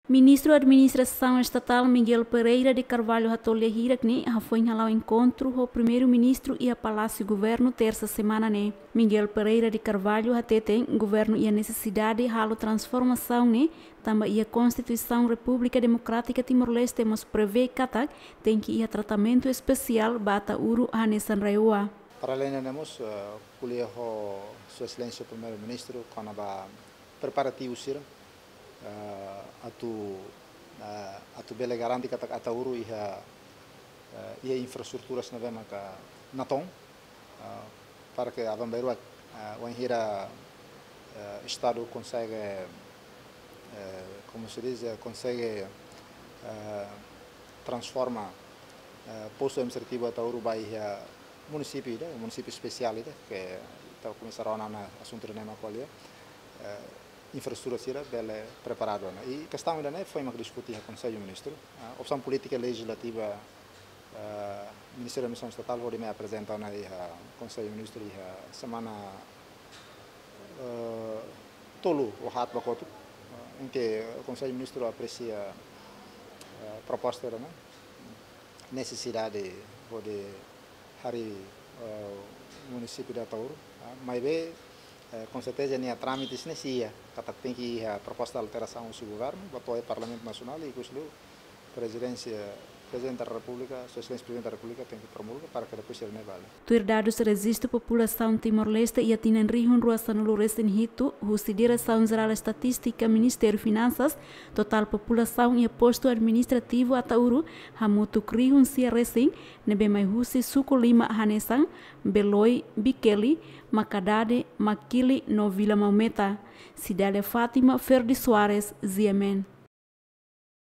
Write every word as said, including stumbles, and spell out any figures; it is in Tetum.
Ministru Administrasaun Estatál Miguel Pereira de Carvalho hato'o lia hirak ne'e hafoin hala'o enkontru ho Primeiru-Ministru iha Palásiu Governu, Tersa semana ne'e. Miguel Pereira de Carvalho hateten governu iha nesesidade halo transformasaun ne'e tanba iha Konstituisaun Repúblika Demokrátika Timor-Leste mós prevee katak tenke iha tratamentu espesiál ba Ataúru hanesan RAEOA. Para além de ne'e mós, eh, ko'alia ho Sua Exelénsia Primeiru-Ministru kona-ba preparativu sira, eh, atu, eh, atu bele garante katak Ataúru iha, eh, iha infraestruturas ne'ebé maka natoon, eh, para ke aban-bainrua, eh, wainhira, eh, Estadu konsege, eh, como se diz, eh, konsege, eh, transforma, eh, postu administrativu Ataúru ba iha munisípiu ida, munisípiu espesiál ida, ke ita komesa rona ona asuntu ida-ne'e mak ko'alia, eh, infraestrutura sira bele preparadu ona. I kestaun ida-ne'e foin mak diskute iha Konsellu Ministru. Ah, opsaun polítika lejizlativa, ah, Ministériu Administrasaun Estatál hodi mai aprezenta ona iha Konsellu Ministru iha semana, eh, tolu ou haat ba kotuk. Ah, em que Konsellu Ministru apresia, eh, proposta ida-ne'e, nesesidade hodi harii, eh, munisípiu ida Ataúru, ah, maibé, eh, com certeza nia trámites ne'e sei iha, katak tenke iha proposta alterasaun husi governu, ba to'o iha Parlamentu Nasionál, i ikus liu Prezidénsia, Prezidente da Repúblika, Sua Exelénsia Prezidente da Repúblika tenke promulga para ke depois sira-ne'e vale. Tuir dadus rejistu populasaun Timor-Leste iha tinan rihun rua sanulu resin hitu, husi Diresaun Jerál Estatístika Ministériu Finansas, totál populasaun iha postu administrativu Ataúru hamutuk rihun sia resin, ne'ebé mai husi suku lima hanesan Beloi, Bikeli, Makadade, Makili no Vila Maumeta. Cidália Fátima, Ferdi Soares, G M N.